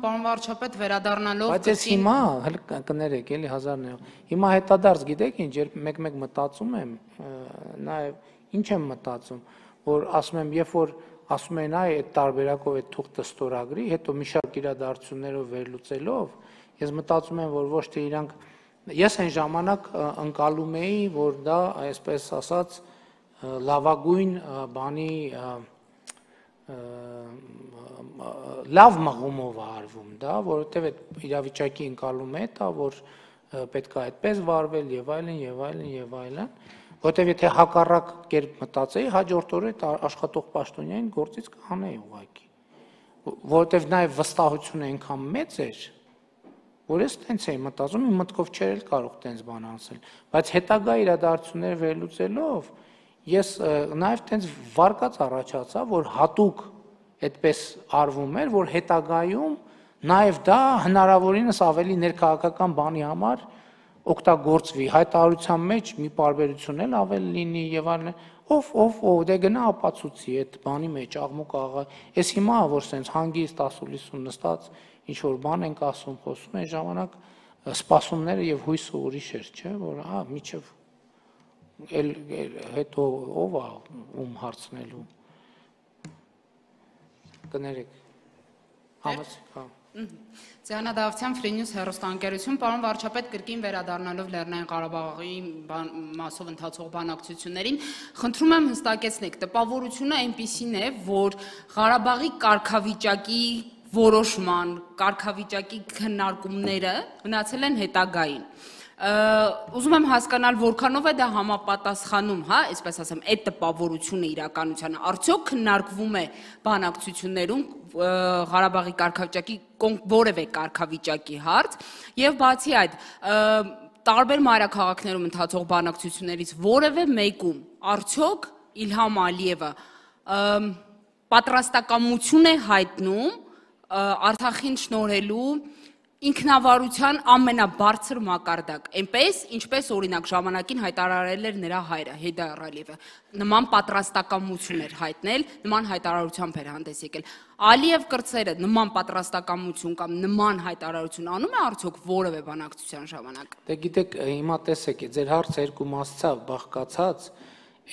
Պարոն վարչապետ, վերադառնալով Բայց ես հիմա կներեք, էլի 1000-ն հիմա հետադարձ գիտեք ինչ, երբ մեկ-մեկ մտածում եմ, նաև ինչ եմ մտածում, որ ասում եմ, երբ որ ասում են այդ տարբերակով այդ թուղթը ստորագրի, հետո մի շարք իրադարձություններով վերլուծելով, ես մտածում եմ, որ ոչ թե իրանք ես այն ժամանակ ընկալում էի, որ դա, այսպես ասած, լավագույն բանի լավ մղումով է արվում դա, որովհետև այդ իրավիճակի ընկալում է դա, որ պետք է այդպես վարվել եւ այլն եւ այլն եւ այլն, որովհետև եթե հակառակ կերպ մտածեի, հաջորդ օրը այդ աշխատող պաշտոնյային գործից կհանեի ուղղակի, որովհետև նաեւ վստահությունը այնքան մեծ էր, որ ես տենց էի մտածում, իմ մտքով չէր էլ կարող տենց բան ասել, բայց հետագա իրադարձությունները վերլուծելով ես նաև տենց վարկած առաջացա, որ հատուկ այդպես արվում էր, որ հետագայում նաև դա հնարավորինս ավելի ներքաղաքական բանի համար օգտագործվի, հայտարարության մեջ մի պարբերություն էլ ավելի լինի եւ այլն, ով դե գնա ապացուցի այդ բանի մեջ աղմուկ աղա, ես հիմա որ սենց հանգիստ ասուլիսում նստած ինչ որ բան ենք ասում, խոսում են ժամանակ սպասումները եւ հույսը ուրիշ էր, չէ, որ միջև հետո ով է ում հարցնելու կներեք Ձեանա Դավթյան, Free News հեռուստաընկերություն, պարոն վարչապետ, կրկին վերադառնալով Լեռնային Ղարաբաղի մասով ընթացող բանակցություններին, խնդրում եմ հստակեցնեք, տպավորությունը այնպիսին է, որ Ղարաբաղի կարգավիճակի որոշման, կարգավիճակի քննարկումները մնացել են հետագային։ Ուզում եմ հասկանալ, որքանով է դա համապատասխանում, այսպես ասեմ, այդ տպավորությունը իրականությանը, արդյոք քննարկվում է բանակցություններում Ղարաբաղի կարգավիճակի որևէ կարգավիճակի հարց, եւ բացի այդ, տարբեր մայրաքաղաքներում ընթացող բանակցություններից որևէ մեկում արդյոք Իլհամ Ալիևը պատրաստակամություն է հայտնում Արցախին շնորհելու ինքնավարության ամենաբարձր մակարդակ, այնպես, ինչպես օրինակ ժամանակին հայտարարել էր նրա հայրը Հեյդար Ալիևը, նման պատրաստակամություն էր հայտնել, նման հայտարարությամբ էր հանդես եկել։ Ալիև կրտսերը նման պատրաստակամություն կամ նման հայտարարություն անում է արդյոք որևէ բանակցության ժամանակ։ Դե գիտեք, հիմա տեսեք, ձեր հարցը երկու մասով բաղկացած,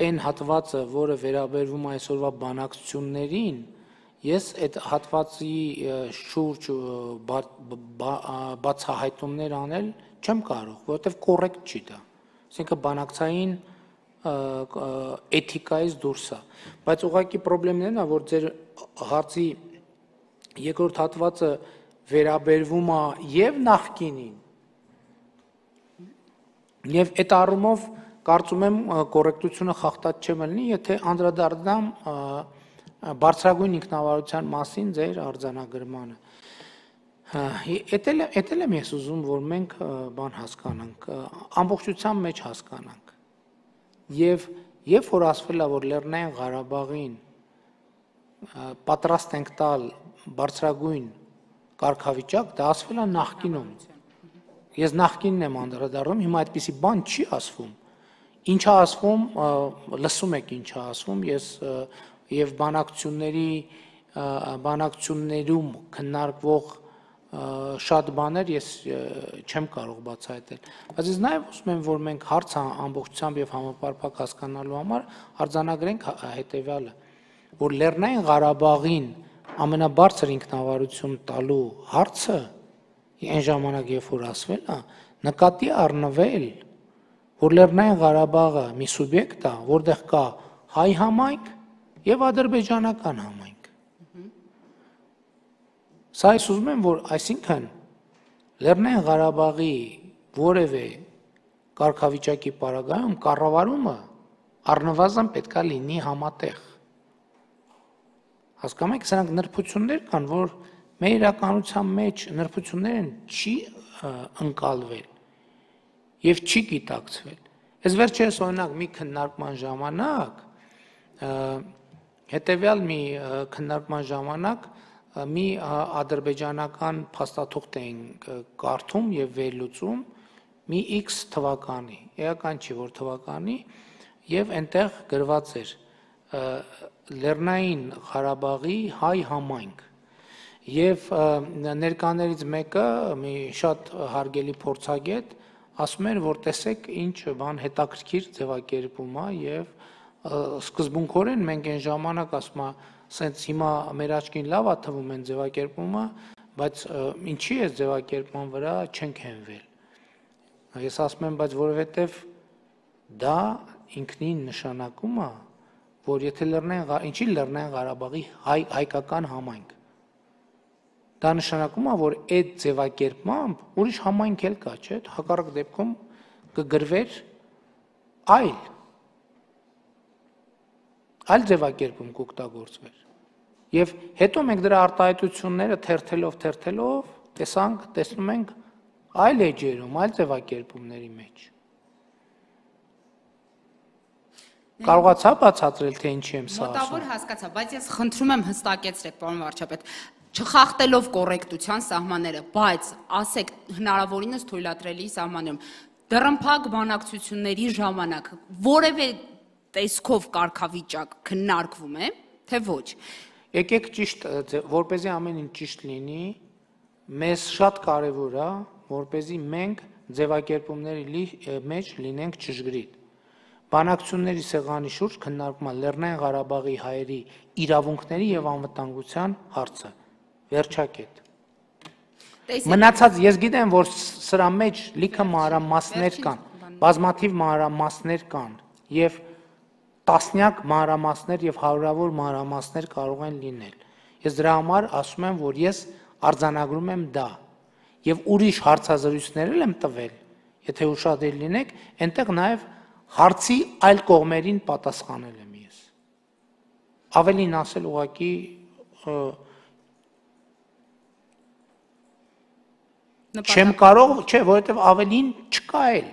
այն հատվածը, որը վերաբերվում է այսօրվա բանակցություններին, ես այդ հատվածի շուրջ բացահայտումներ անել չեմ կարող, որովհետև կոռեկտ չի դա։ Այսինքն բանակցային էթիկայից դուրս է, բայց ուղղակի խնդիրն է, որ ձեր հարցի երկրորդ հատվածը վերաբերվում է եւ նախկինին, եւ այդ առումով կարծում եմ կոռեկտությունը խախտած չեմ լինի, եթե անդրադառնամ բարձրագույն ինքնավարության մասին ձեր արձանագրմանը։ Էդ եմ ես ուզում, որ մենք բան հասկանանք, ամբողջության մեջ հասկանանք։ Եվ երբ որ ասվել է, որ Լեռնային Ղարաբաղին պատրաստ ենք տալ բարձրագույն կարգավիճակ, դա ասվել է նախկինում։ Ես նախկինն եմ անդրադառնում, հիմա այդպիսի բան չի ասվում։ Ինչ է ասվում, լսում եք ինչ է ասվում, ես եւ բանակցություններում քննարկվող շատ բաներ ես չեմ կարող բացահայտել, բայց ես նաեւ ուզում եմ, որ մենք հարցը ամբողջությամբ եւ համապարփակ հասկանալու համար արձանագրենք հետեւյալը, որ Լեռնային Ղարաբաղին ամենաբարձր ինքնավարություն տալու հարցը այն ժամանակ, երբ որ ասվել է, նկատի առնվել, որ Լեռնային Ղարաբաղը մի սուբյեկտ է, որտեղ կա հայ համայնք եւ ադրբեջանական համայնք։ Սա ես ուզում եմ, որ այսինքն Լեռնային Ղարաբաղի որևէ կարգավիճակի պարագայում կառավարումը առնվազն պետք է լինի համատեղ։ Հասկանում եք, սրանք նրբություններ կան, որ մեր իրականության մեջ նրբություններն չի ընկալվել եւ չի գիտակցվել։ Այս վերջերս օրինակ մի քննարկման ժամանակ հետեւյալ մի քննարկման ժամանակ մի ադրբեջանական փաստաթուղթ էին կարդում եւ վերլուծում մի X թվականի, էական չի որ թվականի, եւ այնտեղ գրված էր Լեռնային Ղարաբաղի հայ համայնք։ Եվ ներկաներից մեկը մի շատ հարգելի փորձագետ ասում էր, որ տեսեք ինչ բան հետաքրքիր ձևակերպում է եւ սկզբունքորեն մենք այն ժամանակ ասում է, սենց հիմա մեր աչքին լավ է թվում են ձևակերպումը, բայց ինչի է ձևակերպման վրա չենք հենվել։ Ես ասում եմ, բայց որովհետեւ դա ինքնին նշանակում է, որ եթե ինչի Լեռնային Ղարաբաղի հայկական համայնք, դա նշանակում է, որ այդ ձևակերպմամբ ուրիշ համայնք էլ կա, չէ՞, հակառակ դեպքում կգրվեր այլ ձևակերպում կօգտագործվեր։ Եվ հետո մենք դրա արտահայտությունները թերթելով տեսնում ենք այլ էջերում, այլ ձևակերպումների մեջ։ Կարողացա բացատրել, թե ինչի եմ սա ասում։ Մոտավոր հասկացա, բայց ես խնդրում եմ հստակեցրեք, պարոն վարչապետ, չխախտելով կոռեկտության սահմանները, բայց ասեք հնարավորինս թույլատրելի սահմաններում, դռնփակ բանակցությունների ժամանակ որևէ տեսքով կարգավիճակ քննարկվում է, թե ոչ։ Եկեք ճիշտ, որպեսզի ամեն ինչ ճիշտ լինի, մեզ շատ կարևոր է, որպեսզի մենք ձևակերպումների մեջ լինենք ճշգրիտ։ Բանակցությունների սեղանի շուրջ քննարկում է Լեռնային Ղարաբաղի հայերի իրավունքների եւ անվտանգության հարցը։ Վերջակետ։ Մնացած ես գիտեմ, որ սրա մեջ լիքը մանրամասներ կան, բազմաթիվ մանրամասներ կան եւ տասնյակ մանրամասներ եւ հարյուրավոր մանրամասներ կարող են լինել։ Ես դրա համար ասում եմ, որ ես արձանագրում եմ դա եւ ուրիշ հարցազրույցներ եմ տվել, եթե ուշադիր լինեք, այնտեղ նաեւ հարցի այլ կողմերին պատասխանել եմ ես։ Ավելին ասել ուղղակի չեմ կարող, չէ, որովհետև ավելին չկա էլ։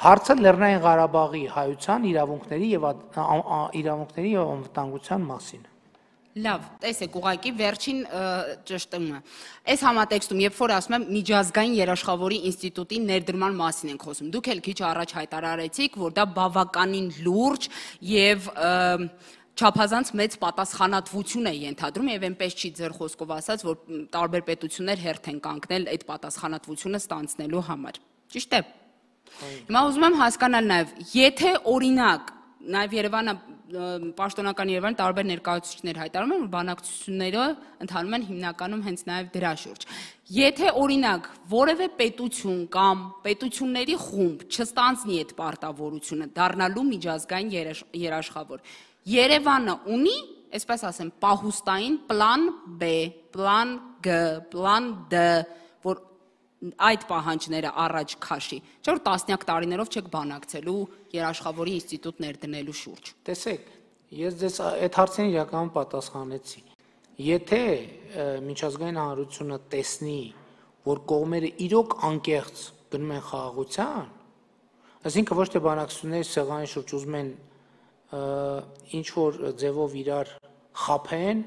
Հարցը Լեռնային Ղարաբաղի հայության իրավունքների եւ անվտանգության մասին։ Լավ, տեսեք, ուղղակի վերջին ճշտումը։ Այս համատեքստում, երբ որ ասում եմ միջազգային երաշխավորի ինստիտուտի ներդրման մասին ենք խոսում, դուք էլ քիչ առաջ հայտարարեցիք, որ դա բավականին լուրջ եւ չափազանց մեծ պատասխանատվություն է ենթադրում եւ այնպես չի ձեր խոսքով ասած, որ տարբեր պետություններ հերթ են կանգնել այդ պատասխանատվությունը ստանցնելու համար։ Ճիշտ է։ Հիմա ուզում եմ հասկանալ նաեւ, եթե օրինակ Նաև Երևանը, պաշտոնական Երևանը տարբեր ներկայացուցիչներ հայտարարում են, որ բանակցությունները ընթանում են հիմնականում հենց նաև դրա շուրջ։ Եթե օրինակ որևէ պետություն կամ պետությունների խումբ չստանձնի այդ պարտավորությունը դառնալու միջազգային երաշխավոր, Երևանը ունի, այսպես ասեմ, պահուստային պլան B, պլան G, պլան D, որ այդ պահանջները առաջ քաշի, չէ՞ որ տասնյակ տարիներով չեք բանակցելու երաշխավորի ինստիտուտ ներդնելու շուրջ։ Տեսեք, ես ձեզ այդ հարցին իրականում պատասխանեցի։ Եթե միջազգային հանրությունը տեսնի, որ կողմերը իրոք անկեղծ գնում են խաղաղության, այսինքն ոչ թե բանակցությունների սեղանի շուրջ ուզում են ինչ որ ձևով իրար խաբեն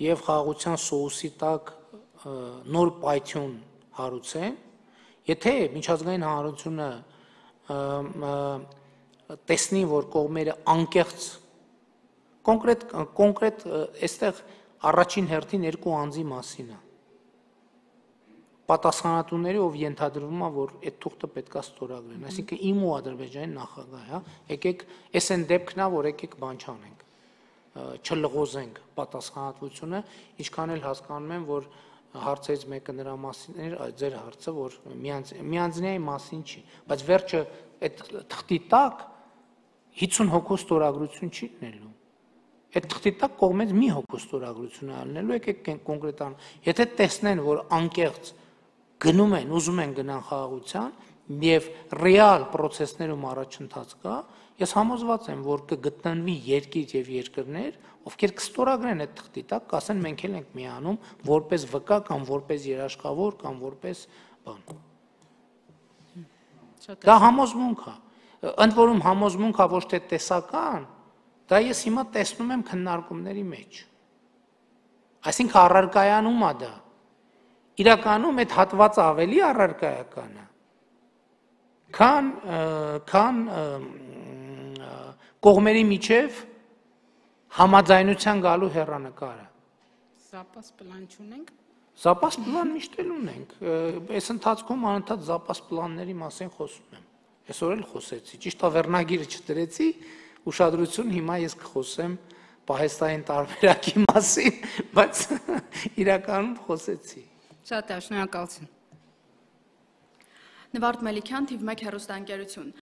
եւ խաղաղության սոուսի տակ նոր պայթյուն հարուցեն, եթե միջազգային հանրությունը տեսնի, որ կողմերը անկեղծ կոնկրետ այստեղ առաջին հերթին երկու անձի մասին է։ Պատասխանատուների, ով ենթադրվում է, որ այդ թուղթը պետք է ստորագրեն, այսինքն իմ ու Ադրբեջանի նախագահ, հա, եկեք այս այն դեպքն է, որ եկեք բան չանենք, չլղոզենք պատասխանատվությունը, ինչքան էլ հասկանում եմ, որ հարցերից մեկը նրա մասին էր, ձեր հարցը, որ միանձնյայի մասին չի, բայց վերջը այդ թղթի տակ 50 հոգու ստորագրություն չի լինելու։ Այդ թղթի տակ կողմից մի հոգու ստորագրություն է լինելու, եկեք կոնկրետան, եթե տեսնեն, որ անկեղծ գնում են, ուզում են գնան խաղաղության եւ ռեալ process-ներում առաջընթաց կա, ես համոզված եմ, որ կգտնվի երկիր եւ երկրներ, ովքեր կստորագրեն այդ թղթի տակ, կասեն մենք էլ ենք միանում որպես վկա կամ որպես երաշխավոր կամ որպես բան։ Դա համոզմունք է։ Ընդ որում համոզմունք է ոչ թե տեսական, դա ես հիմա տեսնում եմ քննարկումների մեջ։ Այսինքն առարկայանում է դա։ Իրականում այդ հատվածը ավելի առարկայական է, քան կողմերի միջև համաձայնության գալու հեռանկարը։ Զապաս պլան չունենք։ Զապաս պլան միշտ էլ ունենք։ Այս ընթացքում անընդհատ զապաս պլանների մասին խոսում եմ։ Այսօր էլ խոսեցի։ Ճիշտ է, վերնագիրը չդրեցի, ուշադրություն հիմա ես կխոսեմ պահեստային տարբերակի մասին, բայց իրականում խոսեցի։ Շատ շնորհակալություն։ Նվարդ Մելիքյան, TV1 հեռուստաընկերություն։